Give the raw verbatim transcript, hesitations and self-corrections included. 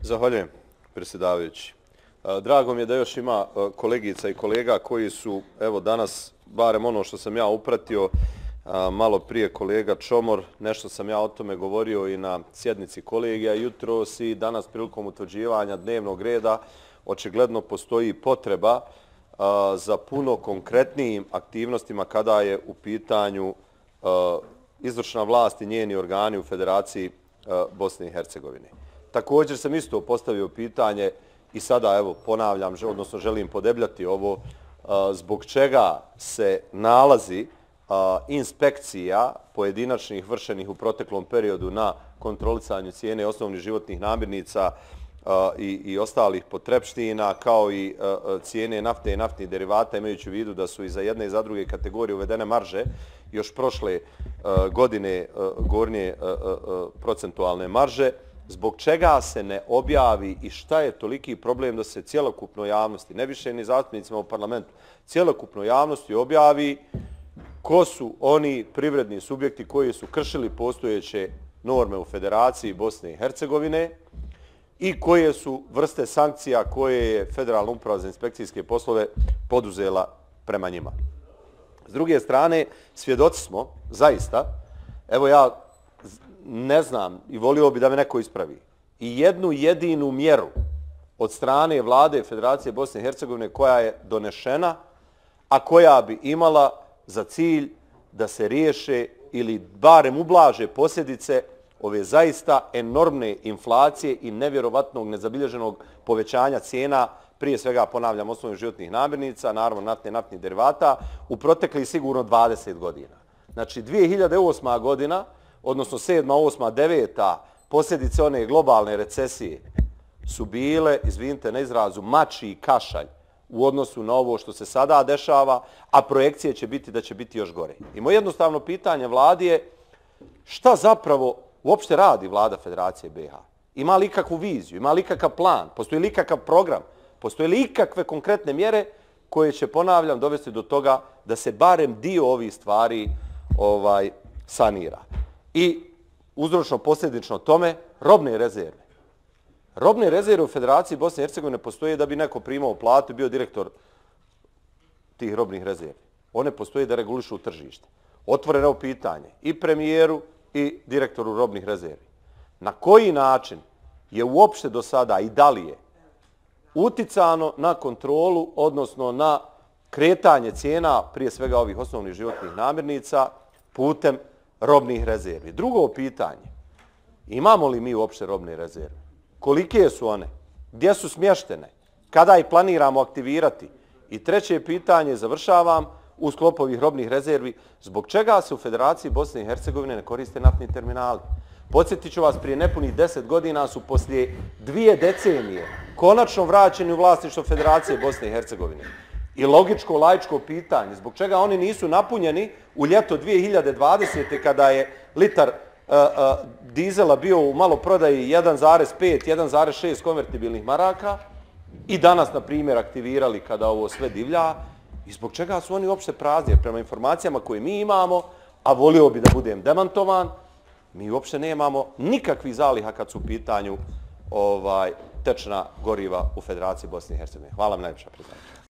Zahvaljujem, predsjedavajući. Drago mi je da još ima kolegica i kolega koji su, evo danas, barem ono što sam ja upratio, malo prije kolega Čomor, nešto sam ja o tome govorio i na sjednici kolegija jutros i danas prilikom utvrđivanja dnevnog reda, očigledno postoji potreba za puno konkretnijim aktivnostima kada je u pitanju izvršna vlast i njeni organi u Federaciji Bosne i Hercegovine. Također sam isto postavio pitanje i sada evo ponavljam, odnosno želim podebljati ovo, zbog čega se nalazi inspekcija pojedinačnih vršenih u proteklom periodu na kontrolisanju cijene osnovnih životnih namirnica i, i ostalih potrepština, kao i cijene nafte i naftnih derivata, imajući u vidu da su i za jedne i za druge kategorije uvedene marže još prošle godine gornje procentualne marže. Zbog čega se ne objavi i šta je toliki problem da se cjelokupnoj javnosti, ne više ni zastupnicima u parlamentu, cjelokupnoj javnosti objavi ko su oni privredni subjekti koji su kršili postojeće norme u Federaciji Bosne i Hercegovine i koje su vrste sankcija koje je Federalna uprava za inspekcijske poslove poduzela prema njima. S druge strane, svjedoci smo, zaista, evo ja ne znam i volio bi da me neko ispravi, i jednu jedinu mjeru od strane vlade Federacije Bosne i Hercegovine koja je donešena, a koja bi imala za cilj da se riješe ili barem ublaže posljedice ove zaista enormne inflacije i nevjerovatnog nezabilježenog povećanja cijena, prije svega, ponavljam, osnovnih životnih namirnica, naravno naftne i naftnih derivata, u proteklih sigurno dvadeset godina. Znači, dvije hiljade osma godina, odnosno sedma, osma, deveta, posljedice one globalne recesije su bile, izvinite na izrazu, mačji i kašalj u odnosu na ovo što se sada dešava, a projekcije će biti da će biti još gore. I moje jednostavno pitanje vladi je šta zapravo uopšte radi vlada Federacije B i H? Ima li ikakvu viziju, ima li ikakav plan, postoji li ikakav program, postoji li ikakve konkretne mjere koje će, ponavljam, dovesti do toga da se barem dio ovih stvari ovaj, sanira. I uzročno posljedično tome, robne rezerve. Robne rezerve u Federaciji Bosne i Hercegovine postoje da bi neko primao platu i bio direktor tih robnih rezervi. One postoje da regulišu tržište. Otvoreno pitanje i premijeru i direktoru robnih rezervi. Na koji način je uopšte do sada i da li je uticano na kontrolu, odnosno na kretanje cijena, prije svega ovih osnovnih životnih namirnica, putem robnih rezervi? Drugo pitanje, imamo li mi uopšte robne rezerve? Kolike su one? Gdje su smještene? Kada ih planiramo aktivirati? I treće pitanje, završavam, u sklopu ovih robnih rezervi, zbog čega se u Federaciji Bosne i Hercegovine ne koriste naftni terminali? Podsjetit ću vas, prije nepunih deset godina su poslije dvije decenije konačno vraćeni u vlasništvo Federacije Bosne i Hercegovine. I logičko, laičko pitanje, zbog čega oni nisu napunjeni u ljeto dvije hiljade dvadesete. kada je litar uh, uh, dizela bio u maloprodaji jedan zarez pet, jedan zarez šest konvertibilnih maraka i danas, na primjer, aktivirali kada ovo sve divlja, i zbog čega su oni uopšte prazni? Jer prema informacijama koje mi imamo, a volio bi da budem demantovan, mi uopšte nemamo nikakvih zaliha kad su u pitanju ovaj, tečna goriva u Federaciji Bosne i Hercegovine. Hvala vam najviše, predsjedniče.